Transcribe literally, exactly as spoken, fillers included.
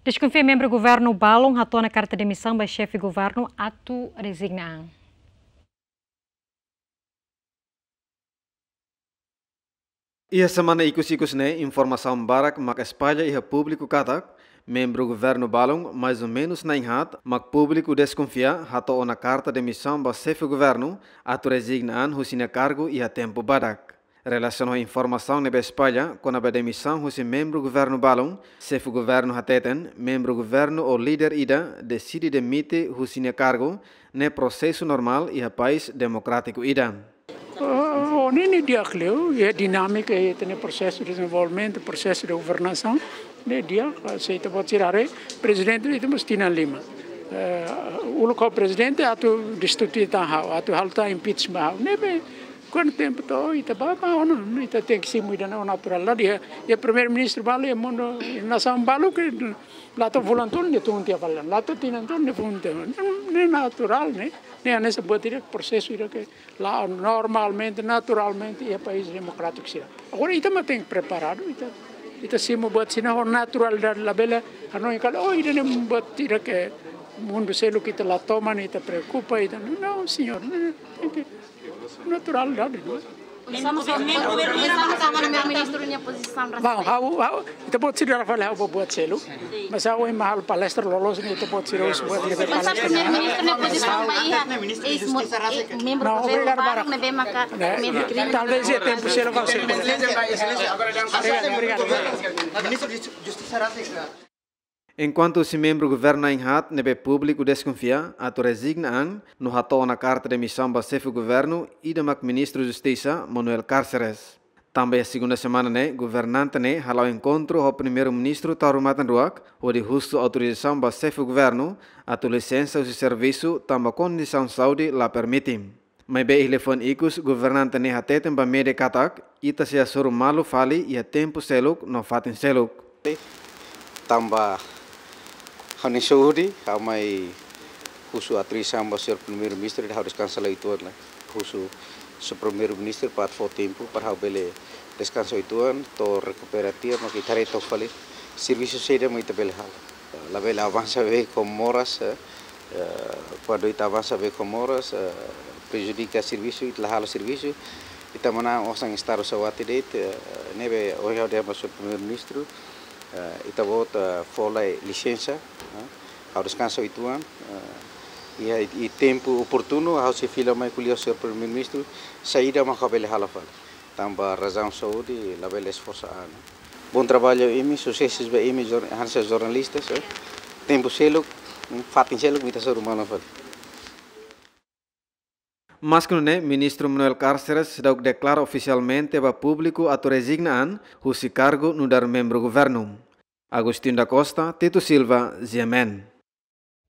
Deskonfia membru governu balun hato'o ona karta demisaun ba xefe governu atu rezigna an. Iha semana ikus-ikus ne'e, informasaun barak mak espalla iha públiku katak membru governu balun, mais ou menus na'in-haat, mak públiku deskonfia hato'o ona karta demisaun ba xefe governu atu rezigna an husi nia kargu iha tempu badak. Relasiona ho informasaun ne'ebé espalla kona-ba demisaun husi membru governu balun, xefe governu hateten, membru governu ou líder ida deside demite husi nia kargu, ne'e prosesu normál iha país demokrátiku ida. Oh, ne'e, ne'e di'ak liu, iha dinámika, iha ita-nia prosesu de dezenvolvimentu, prosesu de governasaun, ne'e di'ak, se ita-boot sira haree, prezidente ita mós tinan lima. Eh, uluk ho prezidente atu destitui tan ha'u, atu halo tan impeachment ha'u. Ne'ebé, kuandu tempu to'o, ita bá, bá, ona, ita tenke simu ida-ne'e ho naturalidade, iha, iha primeiru-ministru balu, iha mundu, nasaun balu ke la to'o fulan tolu nia tun tiha fali, la to'o tinan tolu nia tun tiha fali. Ne'e, ne'e naturál, ne'e, ne'e hanesan buat ida, prosesu ida ke la'o normalmente, naturalmente, iha país demokrátiku sira. Agora, ita mak tenke preparadu, ita, ita simu buat sira-ne'e ho naturalidade, labele hanoin katak, oh, ida-ne'e buat ida ke mundu seluk ita la toman, ita preokupa, ita, não, senhor, ne'e, ne'e, naturalidade, não. Estamos a, estamos a ver primeiro-ministru nia pozisaun. Bom, ha'u, ha'u, ita-boot sira haree fali ha'u buat seluk. Mas ha'u ema halo palestra loloos ne'e, ita-boot sira husu buat ida. Mas primeiru-ministru nia pozisaun ba iha eis mo-, eh, membru governu barak ne'ebé maka, ne'e, talvés iha tempu seluk ha'u sei. Obrigadu, obrigadu. Enkuantu husi membru governu na'in-haat ne'ebé públiku deskonfia atu rezigna an no hato'o ona karta demisaun ba xefe governu, ida mak Ministru Justisa, Manuel Cárceres. Tanba iha segunda semana ne'e, governante ne'e hala'o enkontru ho Primeiru-Ministru Taur Matan Ruak, hodi husu autorizasaun ba xefe governu atu lisensa husi servisu tanba kondisaun saúde la permite. Maibé iha liafuan ikus, governante ne'e hateten ba média katak, ita sei hasoru malu fali iha tempu seluk no fatin seluk. Tanba ha'u-nia saúde, ha'u mai husu autorizasaun ba señór Primeiru-Ministru, ha'u deskansa lai uitoan, husu señór Primeiru-Ministru para fó tempu para ha'u bele deskansa uitoan, to'o rekupera tiha, mak ita haree took fali servisu saida mak ita bele halo. Labele avansa beibeik ho moras, eh, eh, kuandu ita avansa beibeik ho moras, eh, prejudika servisu, ita la halo servisu, ita manán osan estadu saúde de'it, eh, ne'ebé ohin ha'u dehan ba señór Primeiru-Ministru, eh, ita-boot, eh, fó lai lisensa, eh, ha'u deskansa uitoan, eh, iha, iha tempu oportunu, ha'u sei fila mai ko'alia ho señór Primeiru-Ministru, saida mak ha'u bele halo fali. Tanba razaun saúde, labele esforsa an. Bom trabalho imi, susesus ba imi, jor-, hanesan jornalistas, eh. Tempu seluk, fatin seluk, ita hasoru malu fali. Maske nune'e, Ministru Manuel Cárceres seidauk deklara ofisialmente ba públiku atu rezigna an husi kargu nu'udar membru governu. Agostinho da Costa, Tito Silva, G M N.